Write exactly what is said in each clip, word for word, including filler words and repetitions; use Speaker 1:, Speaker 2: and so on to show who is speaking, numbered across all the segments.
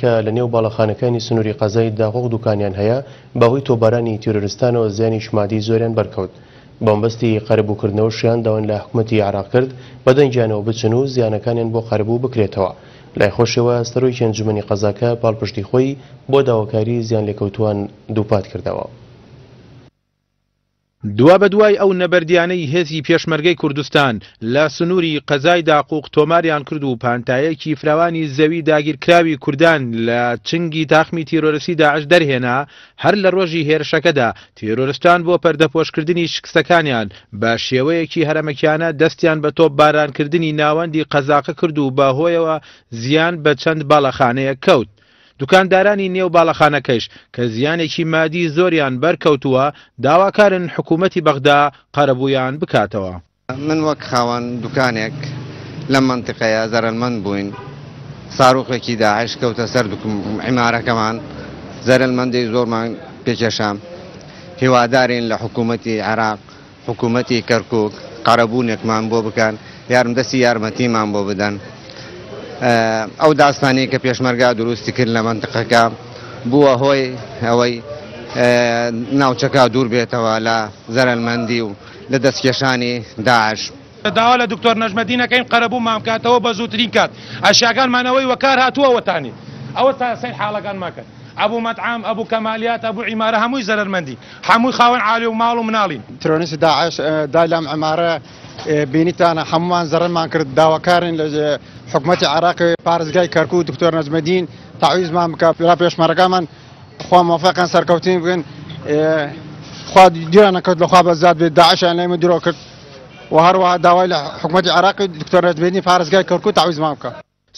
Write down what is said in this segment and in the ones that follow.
Speaker 1: کە لە نێو باڵەخانەکانی سنووری قەزای داقوق دوکانیان هەیە، بەهۆی تۆپبارانی تیرۆرستانەوە زیانی مادی زۆریان بەرکەوت. بەمبەستی قەرەبووکردنەوەشیان داوایان لە حکومەتی عێراق کرد بەدەنگیانەوە بچن و زیانەکانیان بۆ قەرەبوو بکرێتەوە. لای خۆشەوە سەرۆکی ئەنجومەنی قەزاکە پاڵپشتی خۆی بۆ داواکاری زیان لێکەوتووان دووپات کردەوە.
Speaker 2: دوابەدوای ئەو نەبەردیانەی هێزی پێشمەرگەی کوردستان لە سنووری قەزای داقوق تۆماریان کرد و پانتایەکی فراوانی زەوی داگیرکراوی کوردان لە چنگی تاخمی تیرۆرستی داعش دەرهێنا، هەر لە ڕۆژی هێرشەکەدا تیرۆرستان بۆ پەردەپۆشکردنی شکستەکانیان بە شێوەیەکی هەرەمەکیانە دەستیان بە تۆپ بارانکردنی ناوەندی قەزاقە کرد و بەهۆیەوە زیان بە چەند باڵەخانەیەک کەوت. دوکاندارانی نێو باڵەخانەکەش کە زیانێکی مادی زۆریان بەرکەوتووە داواکارن حکوومەتی بەغدا قەرەبوویان بکاتەوە.
Speaker 3: من وەک خاوەن دوکانێک لەم مەنتیقەیە زەرەرمەند بووین. ساروخێکی داعش کەوتە سەر عیمارەکەمان، زەرەرمەندی زۆرمان پێکێشام. هیوادارین لە حکوومەتی عێراق، حکوومەتی کەرکووک قەرەبوونێکمان بۆ بکەن، یارمدەستی یارمەتیمان بۆ بدەن. ئەو داستانی کە پێشمەرگا دروستی کرد لە مەنتیقەکە بووە هۆی ئەوەی ناوچەکە دوور بێتەوە لە زەرەرمەندی و لە دەستکێشانی داعش.
Speaker 4: داوا لە دکتۆر نەجمەدین ئەکەین قەرەبوومان بکاتەوە بە زووترین کات. ئەشیاکانمانەوەی وەکار هاتووە وەتانی ئەوە تا سەیر حاڵەکانمان کرد. ئەبوو مەطعام، ئەبوو کەمالیات، ئەبوو عیمارە هەمووی زەرەرمەندی، هەمووی خاوەن عالی و ماڵ و مناڵین.
Speaker 5: ترۆریستی داعش دای لەم عیمارە بینیتانە هەموومان زەرەرمان کرد. داواکارین لە حکومەتی عێراقی پارێزگای کەرکوو دکتۆر نەجمەدین تەعویزمان بکە، لە پێشمەرەکانمان خوا مۆفەقیان سەرکەوتین بکەن. خوا دیران نەکەوت لە خوا بەزاد بێت، داعشیان لێمە درۆ کرد. و هەروەها داوای لە حکومەتی عێراقی دکتۆر نەجمەدین پارێزگای کەرکوو تەعویزمان بکە.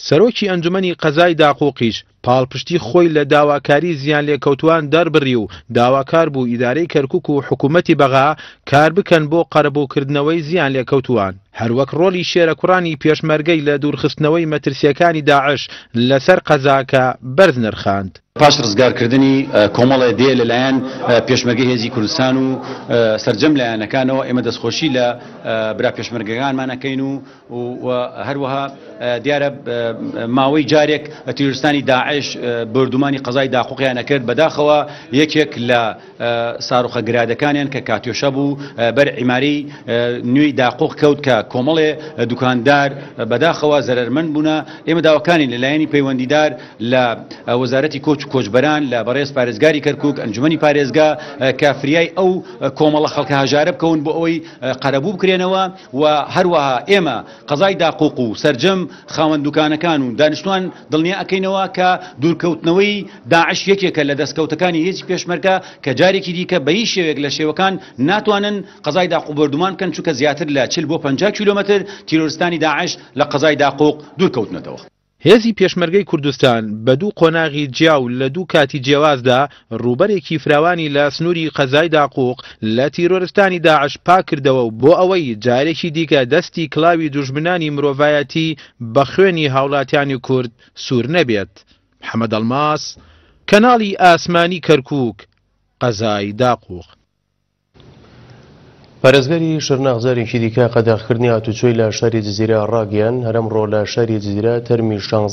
Speaker 2: سەرۆکی ئەنجومەنی قەزای داقوقیش پاڵپشتی خۆی لە داواکاری زیان لێکەوتوان دەربڕی و داواکار بوو ئیدارەی کەرکوک و حکوومەتی بەغا کار بکەن بۆ قەرەبووکردنەوەی زیان لێکەوتوان. هەروەک ڕۆڵی شێرەکوڕانی پێشمەرگەی لە دوورخستنەوەی مەترسیەکانی داعش لەسەر قەزاکە بەرز نرخاند.
Speaker 6: پاش ڕزگارکردنی کۆمەڵێ دێ لەلایەن پێشمەرگەی هێزی کوردستان و سەرجەم لایەنەکانەوە ئێمە دەستخۆشی لە برا پێشمەرگەکانمان ئەکەین و هەروەها دیارە ماوەی جارێک تیرۆرستانی داعش بردومانی قەزای داقوقیان ئەکرد. بەداخەوە یەکێک لە ساروخە گرادەکانیان کە کاتیۆشە بوو بەر عیمارەی نوێی داقوق کەوت کە کۆمەڵێ دوکاندار بەداخەوە زەرەرمەند بوونە. ئێمە داواکانی لەلایەنی پەیوەندیدار لە وەزارەتی کۆچ و کۆچبەران لە بەڕێز پارێزگاری کەرکوک، ئەنجومەنی پارێزگا کە فریای ئەو کۆمەڵە خەڵکە هەژارە بکەون بۆ ئەوەی قەرەبوو بکرێنەوە و هەروەها ئێمە قەزای داقوق و سەرجەم خاوەن دوکانەکان و دانیشتوان دڵنیا ئەکەینەوە کە دوورکەوتنەوەی داعش یەکێکە لە دەستکەوتەکانی هێزی پێشمەرگە کە جارێکی دیکە بە هیچ شێوەیەک لە شێوەکان ناتوانن قەزای داقوق بۆردومان بکەن، چونکە زیاتر لە چل بۆ پەنجا کیلۆمەتر تیرۆرستانی داعش لە قەزای داقوق دوورکەوتنەتەوە.
Speaker 2: هێزی پێشمەرگەی کوردستان بە دوو قۆناغی جیا و لە دوو کاتی جیاوازدا ڕووبەرێکی فراوانی لە سنووری قەزای داقوق لە تیرۆرستانی داعش پاک کردەوە و بۆ ئەوەی جارێکی دیکە دەستی کڵاوی دوژمنانی مرۆڤایەتی بە خوێنی هاوڵاتیانی کورد سوور نەبێت. محەممەد ئەڵماس، کەناڵی ئاسمانی کەرکووک، قەزای داقوق.
Speaker 1: پارێزگاری شرناخ جارێکی دیکە قەدەغکردنی هاتوچۆی لە شاری جزیرە ڕاگەیان. هەرەمڕۆ لە شاری جزیرە تەرمی شانزە